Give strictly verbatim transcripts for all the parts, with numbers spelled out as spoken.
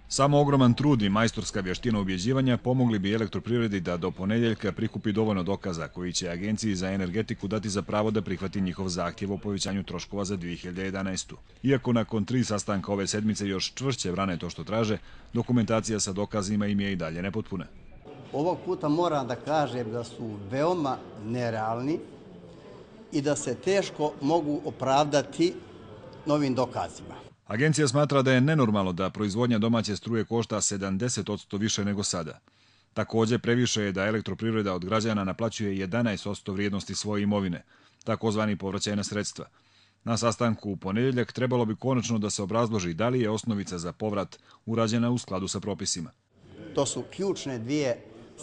Samo ogroman trud i majstorska vještina ubjeđivanja pomogli bi Elektroprivredi da do ponedjeljka prikupi dovoljno dokaza koji će Agenciji za energetiku dati za pravo da prihvati njihov zahtjev o povećanju troškova za dvije hiljade jedanaestu. Iako nakon tri sastanka ove sedmice još čvršće brane to što traže, dokumentacija sa dokazima im je i dalje nepotpuna. Ovog puta moram da kažem da su veoma nerealni i da se teško mogu opravdati novim dokazima. Agencija smatra da je nenormalno da proizvodnja domaće struje košta sedamdeset posto više nego sada. Također previše je da Elektroprivreda od građana naplaćuje jedanaest posto vrijednosti svoje imovine, takozvani povraćajna sredstva. Na sastanku u ponedjeljak trebalo bi konačno da se obrazloži da li je osnovica za povrat urađena u skladu sa propisima. To su ključne dvije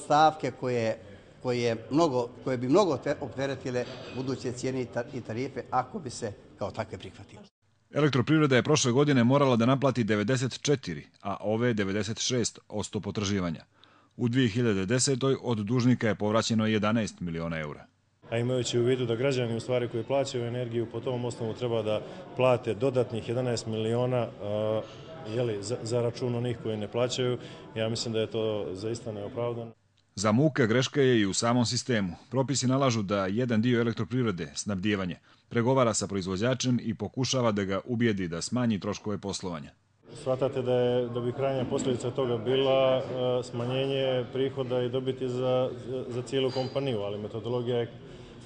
stavke koje, koje, mnogo, koje bi mnogo opteretile buduće cijene i tarife ako bi se kao takve prihvatile. Elektroprivreda je prošle godine morala da naplati devedeset četiri, a ove devedeset šest posto potraživanja. U dvije hiljade desetoj od dužnika je povraćeno jedanaest miliona eura. A imajući u vidu da građani u stvari koji plaćaju energiju po tom osnovu treba da plate dodatnih jedanaest miliona uh, jeli, za, za račun onih koji ne plaćaju, ja mislim da je to zaista neopravdano. Za muka greška je i u samom sistemu. Propisi nalažu da jedan dio Elektroprivrede, snabdijevanje, pregovara sa proizvođačem i pokušava da ga ubijedi da smanji troškove poslovanja. Shvatate da, je, da bi krajnja posljedica toga bila uh, smanjenje prihoda i dobiti za, za cijelu kompaniju, ali metodologija je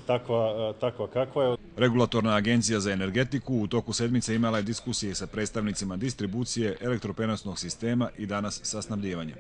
takva, uh, takva kakva je. Regulatorna agencija za energetiku u toku sedmice imala je diskusije sa predstavnicima distribucije, elektroprenosnog sistema i danas sa snabdijevanjem.